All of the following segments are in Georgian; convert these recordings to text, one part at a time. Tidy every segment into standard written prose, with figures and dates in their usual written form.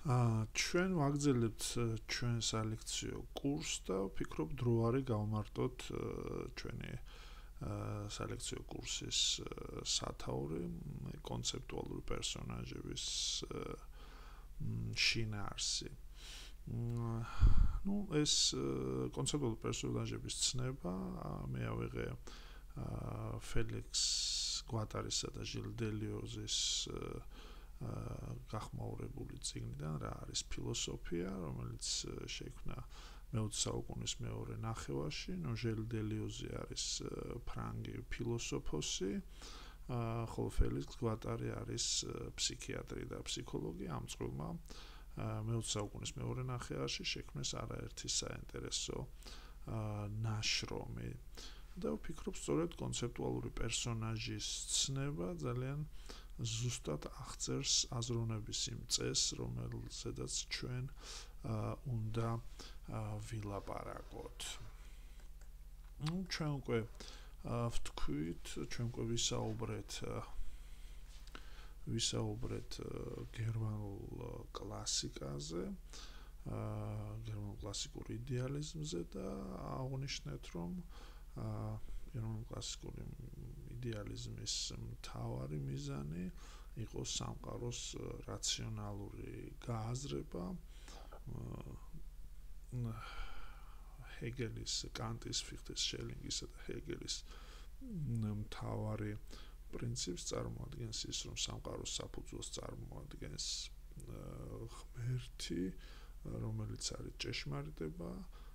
ჩვენ ვაგრძელებთ ჩვენ სალექციო კურსს და ვფიქრობ დრო არის გავმარტოთ ჩვენი სალექციო კურსის სათაური კონცეპტუალური პერსონაჟების შინაარსი. ეს კონცეპტუალური პერსონაჟების ცნება მე ავიღე ფელიქს გვატარისა და ჟილ დელიოზის გახმაურებული წიგნიდან რა არის ფილოსოფია, რომელიც შეიქმნა მე-20 საუკუნის მეორე ნახევარში. ჟილ დელიოზი არის ფრანგი ფილოსოფოსი, ხოლო ფელიქს გვატარი არის ფსიქიატრი და ფსიქოლოგი. ამ წყვილმა მე-20 საუკუნის მეორე ნახევარში შექმნეს არაერთი საინტერესო ნაშრომი. და ვფიქრობ, სწორედ კონცეპტუალური პერსონაჟის ცნება ძალიან ზუსტად აღწერს აზროვნების იმ წესს, რომელზედაც ჩვენ უნდა ვილაპარაკოთ. ჩვენ უკვე ვთქვით, ჩვენ უკვე ვისაუბრეთ გერმანულ კლასიკაზე, გერმანულ კლასიკურ იდეალიზმზე და აღნიშნეთ, რომ გერმანულ კლასიკურ იდეალიზმის მთავარი მიზანი იყო სამყაროს რაციონალური გააზრება. ჰეგელის, კანტის, ფიხტეს, შელინგისა და ჰეგელის მთავარი პრინციპს წარმოადგენს ის, რომ სამყაროს საფუძველს წარმოადგენს ღმერთი, რომელიც არის ჭეშმარიტება,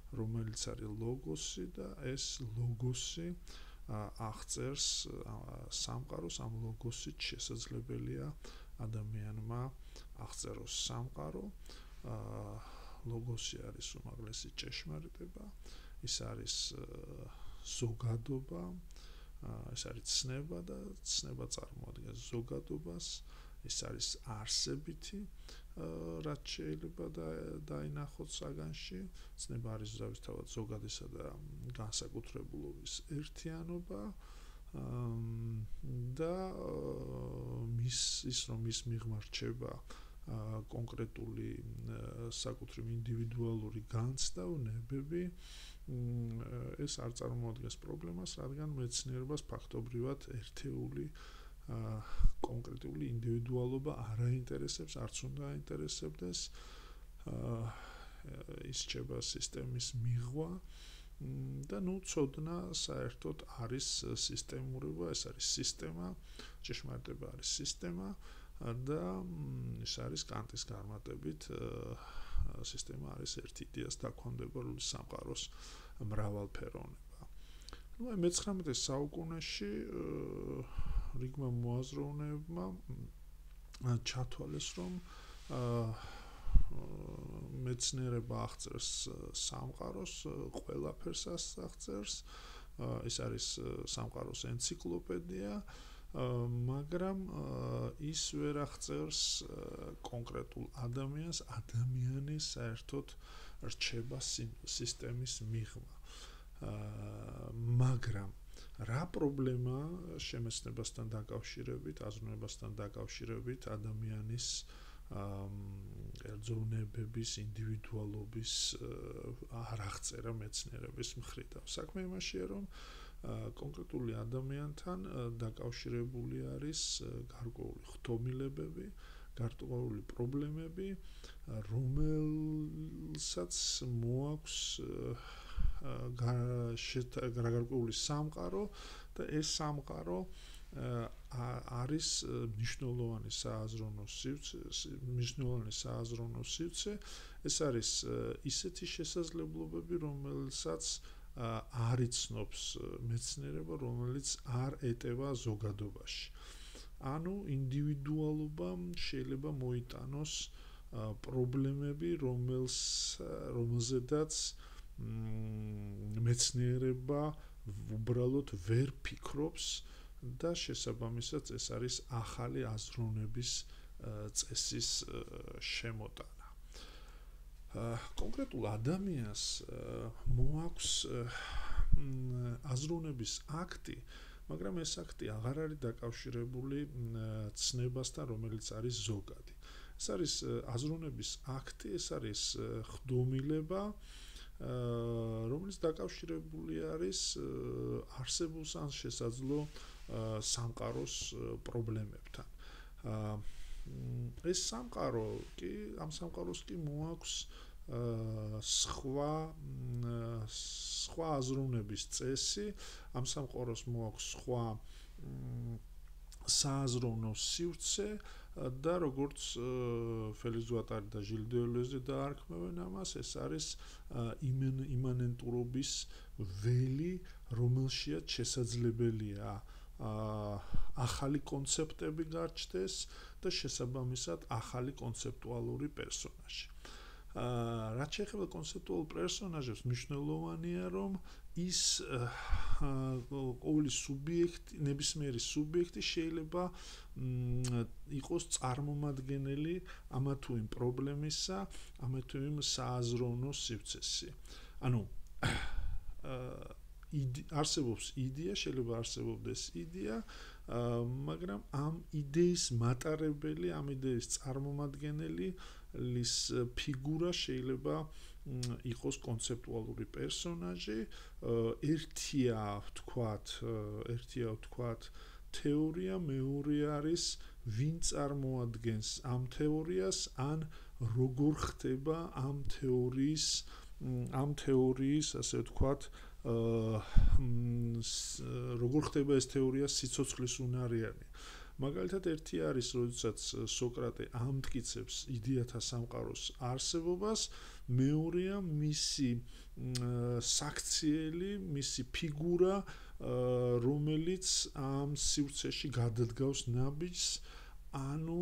რომელიც არის ლოგოსი და ეს ლოგოსი აღწერს სამყაროს. ამ ლოგოსით შესაძლებელია ადამიანმა აღწეროს სამყარო. ლოგოსი არის უმაღლესი ჭეშმარიტება, ის არის ზოგადობა, ეს არის ცნება და ცნება წარმოადგენს ზოგადობას, ეს არის არსებითი, რაც შეიძლება დაინახოთ საგანში. ცნება არის ზუსტად ზოგადისა და განსაკუთრებულობის ერთიანობა და რომ ის მიღმა რჩება კონკრეტული საკუთრივ ინდივიდუალური განცდავნებები, ეს არ წარმოადგენს პრობლემას, რადგან მეცნიერებას ფაქტობრივად ერთეული კონკრეტული ინდივიდუალობა არ აინტერესებს, არც უნდა აინტერესებდეს. ის რჩება სისტემის მიღვა და ცოდნა საერთოდ არის სისტემურობა, ეს არის სისტემა, ჭეშმარიტება არის სისტემა და ის არის კანტის განმარტებით სისტემა არის ერთ იდეას დაქვემდებარებული სამყაროს მრავალფეროვნება. მე-19 საუკუნეში რიგმა მოაზროვნეებმა ჩათვალეს, რომ მეცნიერება აღწერს სამყაროს, ყველაფერს აღწერს, ეს არის სამყაროს ენციკლოპედია, მაგრამ ის ვერ აღწერს კონკრეტულ ადამიანს, ადამიანის საერთოდ რჩება სისტემის მიღმა. მაგრამ რა პრობლემა შემეცნებასთან დაკავშირებით, აზროვნებასთან დაკავშირებით ადამიანის ერთზევნებების, ინდივიდუალობის არ აღწერა მეცნიერების მხრიდან. საქმე იმაშია, რომ კონკრეტული ადამიანთან დაკავშირებული არის გარკვეული ხდომილებები, გარკვეული პრობლემები, რომელსაც მოაქვს გარკვეული სამყარო და ეს სამყარო არის მნიშვნელოვანი სააზროვნო სივრცე. ეს არის ისეთი შესაძლებლობები, რომელსაც არ იცნობს მეცნიერება, რომელიც არ ეტევა ზოგადობაში. ანუ ინდივიდუალობამ შეიძლება მოიტანოს პრობლემები, რომელზედაც მეცნიერება უბრალოდ ვერ ფიქრობს და შესაბამისად ეს არის ახალი აზროვნების წესის შემოტანა. კონკრეტულ ადამიანს მოაქვს აზროვნების აქტი, მაგრამ ეს აქტი აღარ არის დაკავშირებული ცნებასთან, რომელიც არის ზოგადი. ეს არის აზროვნების აქტი, ეს არის ხდომილება, რომელიც დაკავშირებული არის არსებულ ან შესაძლო სამყაროს პრობლემებთან. ეს სამყარო კი ამ სამყაროს კი მოაქვს სხვა აზროვნების წესი, ამ სამყაროს მოაქვს სხვა სააზროვნო სივრცე და როგორც ფელიქს ვატარი და ჟილ დელოზე დაარქმევენ ამას, ეს არის იმანენტურობის ველი, რომელშიაც შესაძლებელია ახალი კონცეპტები გარჩდეს და შესაბამისად ახალი კონცეპტუალური პერსონაჟი. რაც შეეხება კონცეპტუალურ პერსონაჟებს, მნიშვნელოვანია, რომ ის ყოველი სუბიექტი, ნებისმიერი სუბიექტი შეიძლება იყოს წარმომადგენელი ამა თუ იმ პრობლემისა, ამა თუ იმ სააზროვნო სივრცეში. ანუ არსებობს იდეა, შეიძლება არსებობდეს იდეა, მაგრამ ამ იდეის მატარებელი, ამ იდეის წარმომადგენელი ლის ფიგურა შეიძლება იყოს კონცეპტუალური პერსონაჟი, ერთია ვთქვათ თეორია, მეორე არის ვინ წარმოადგენს ამ თეორიას, ან როგორ ხდება ამ თეორიის, ასე ვთქვათ, როგორ ხდება ეს თეორია სიცოცხლის უნარიანი. მაგალითად, ერთი არის, როდესაც სოკრატე ამტკიცებს იდეათა სამყაროს არსებობას, მეორეა მისი საქციელი, მისი ფიგურა, რომელიც ამ სივრცეში გადადგავს ნაბიჯს, ანუ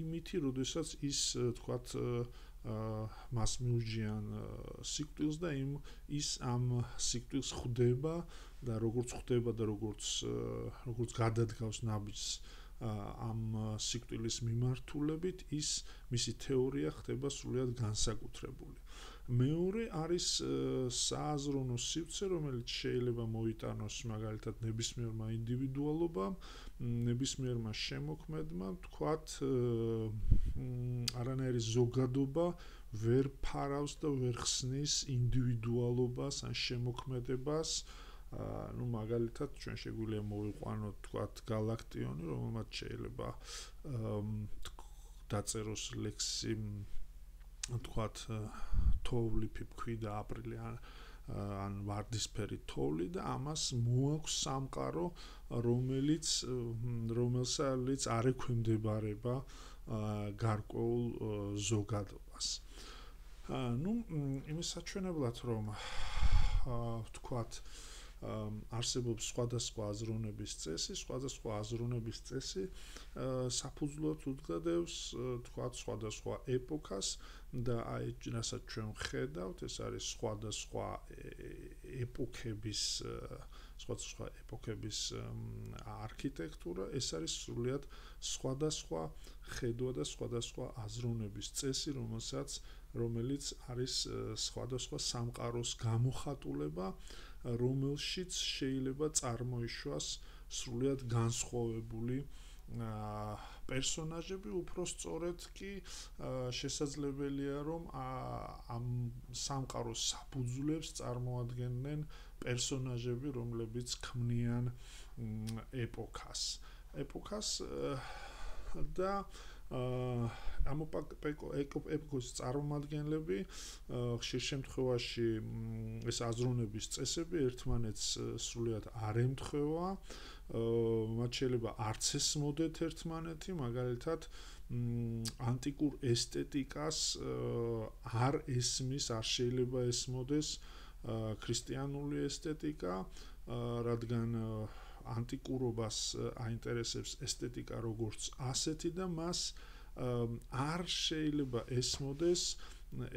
იმითი, როდესაც ის, თქვათ, მას მიუჯიან სიკვდილს და ის ამ სიკვდილს ხვდება და როგორც გადადგავს ნაბიჯს ამ სიკვდილის მიმართულებით, ის მისი თეორია ხდება სრულიად განსაკუთრებული. მეორე არის სააზროვნო სივრცე, რომელიც შეიძლება მოიტანოს მაგალითად ნებისმიერმა ინდივიდუალობამ, ნებისმიერმა შემოქმედმა, თქვათ, არანაირი ზოგადობა ვერ ფარავს და ვერ ხსნის ინდივიდუალობას ან შემოქმედებას. ну მაგალითად ჩვენ შეგვიძლია მოვიყვანოთ თქვათ გალაქტიონი, რომელმაც შეიძლება დაწეროს ლექსი თქვათ თოვლი ფიფქვი და აპრილი ან ვარდისფერი თოვლი და ამას მოაქვს სამყარო, რომელსაც არ ექვემდებარება გარკვეულ ზოგადობას. ну იმის საჩვენებლად რომ ვთქვათ არსებობს სხვადასხვა აზროვნების წესი, სხვადასხვა აზროვნების წესი საფუძვლად უდგადებს, თქვათ, სხვადასხვა ეპოქას და აი რასაც ჩვენ ვხედავთ, ეს არის სხვადასხვა ეპოქების არქიტექტურა, ეს არის სრულიად სხვადასხვა ხედვა და სხვადასხვა აზროვნების წესი, რომელიც არის სხვადასხვა სამყაროს გამოხატულება, რომელშიც შეიძლება წარმოიშვას სრულიად განსხვავებული პერსონაჟები, უფრო სწორედ კი შესაძლებელია, რომ ამ სამყაროს საფუძვლებს წარმოადგენენ პერსონაჟები, რომლებიც ქმნიან ეპოქას და ამ ეპოქის წარმომადგენლები ხშირ შემთხვევაში ეს აზროვნების წესები ერთმანეთს სრულიად არ ემთხვევა, მათ შეიძლება არც ესმოდეთ ერთმანეთი, მაგალითად ანტიკურ ესთეტიკას არ ესმის, არ შეიძლება ესმოდეს ქრისტიანული ესთეტიკა, რადგან ანტიკურობას აინტერესებს ესთეტიკა როგორც ასეთი და მას არ შეიძლება ესმოდეს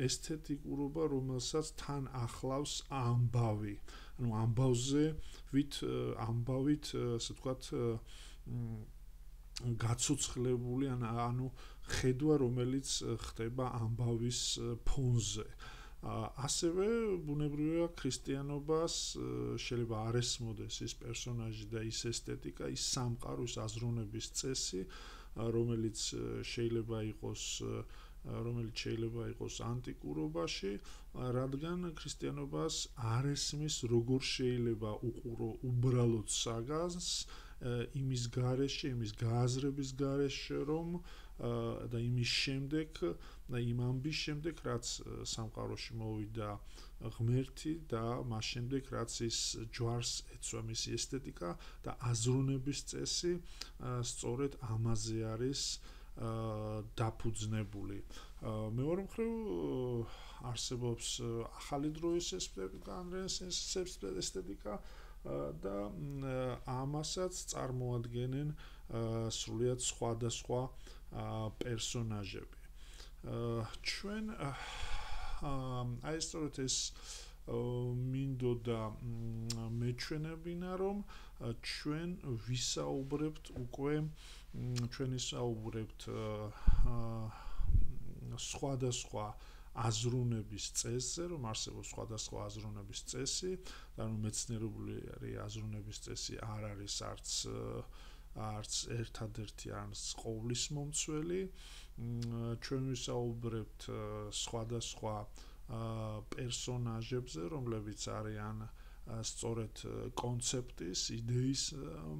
ესთეტიკურობა, რომელსაც თან ახლავს ამბავი. ანუ ამბავით, ასე ვთქვათ, გაცოცხლებული, ანუ ხედვა, რომელიც ხდება ამბავის ფონზე. ასევე ბუნებრივია ქრისტიანობას შეიძლება არ ესმოდეს ის პერსონაჟი და ის ესთეტიკა, ის სამყარო, ის აზროვნების წესი, რომელიც შეიძლება იყოს ანტიკურობაში, რადგან ქრისტიანობას არ ესმის როგორ შეიძლება უყურო უბრალოდ საგანს იმის გარეშე, იმის გააზრების გარეშე, რომ და იმის შემდეგ და იმ ამბის შემდეგ, რაც სამყაროში მოვიდა ღმერთი და მას შემდეგ, რაც ის ჯვარს ეცვა მისი ესთეტიკა და აზროვნების წესი სწორედ ამაზე არის დაფუძნებული. მეორე მხრივ არსებობს ახალი დროის ესთეტიკა და ამასაც წარმოადგენენ სრულიად სხვადასხვა პერსონაჟები. ჩვენ აი სწორედ ეს მინდოდა მეჩვენებინა, რომ ჩვენ ვისაუბრებთ უკვე სხვადასხვა აზროვნების წესზე, რომ არსებობს სხვადასხვა აზროვნების წესი, და რომ მეცნიერული აზროვნების წესი არ არის არც ერთადერთი, არც ყოვლის მომცველი. ჩვენ ვისაუბრებთ სხვადასხვა პერსონაჟებზე, რომლებიც არიან სწორედ კონცეპტის, იდეის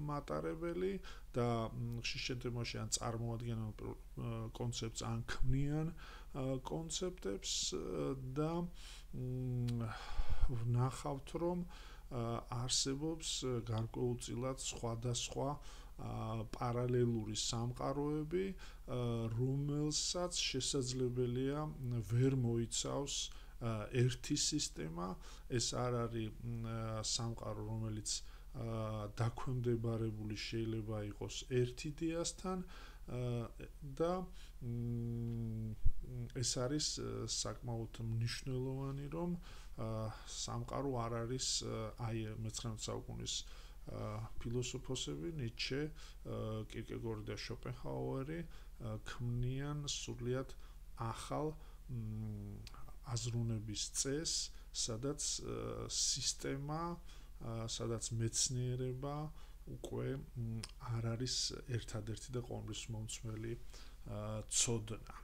მატარებელი და ხშირ შემთხვევაში ან წარმოადგენენ კონცეპტს, ან ქმნიან კონცეპტებს და ვნახავთ, რომ არსებობს გარკვეულწილად სხვადასხვა პარალელური სამყაროები, რომელსაც შესაძლებელია ვერ მოიცავს ერთი სისტემა. ეს არ არის სამყარო, რომელიც დაქვემდებარებული შეიძლება იყოს ერთ იდეასთან და ეს არის საკმაოდ მნიშვნელოვანი, რომ სამყარო არ არის აი 19 საუკუნის ფილოსოფოსები ნიცშე, კირკეგორი და შოპენჰაუერი ქმნიან სრულიად ახალ აზროვნების წესს, სადაც სისტემა, სადაც მეცნიერება უკვე არ არის ერთადერთი და ყოველთვის მომცველი ცოდნა.